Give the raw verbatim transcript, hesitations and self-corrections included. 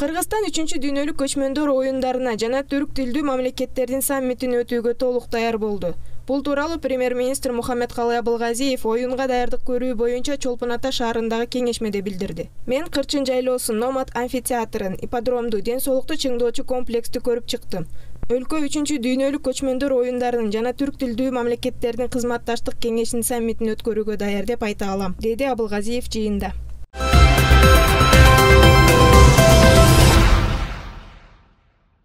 Кыргызстан үчүнчү дүйнөлүк көчмөндөр оюндарына жана түрк тилдүү мамлекеттердин саммитин өтүүгө толук даяр болду. Бул тууралуу премьер-министр Мухаммедкалый Абылгазиев оюнга даярдык көрүү боюнча Чолпон Ата шаарындагы кеңешмеде билдирди. Мен Кырчын жайлоосун, Номад амфитеатрын, ипподромду, ден соолукту чыңдоочу комплексти көрүп чыктым. Өлкө үчүнчү дүйнөлүк көчмөндөр оюндарынын жана түрк тилдүү мамлекеттердин кызматташтык кеңешинин саммитин өткөрүүгө даяр деп айта алам, деди Абылгазиев жыйында.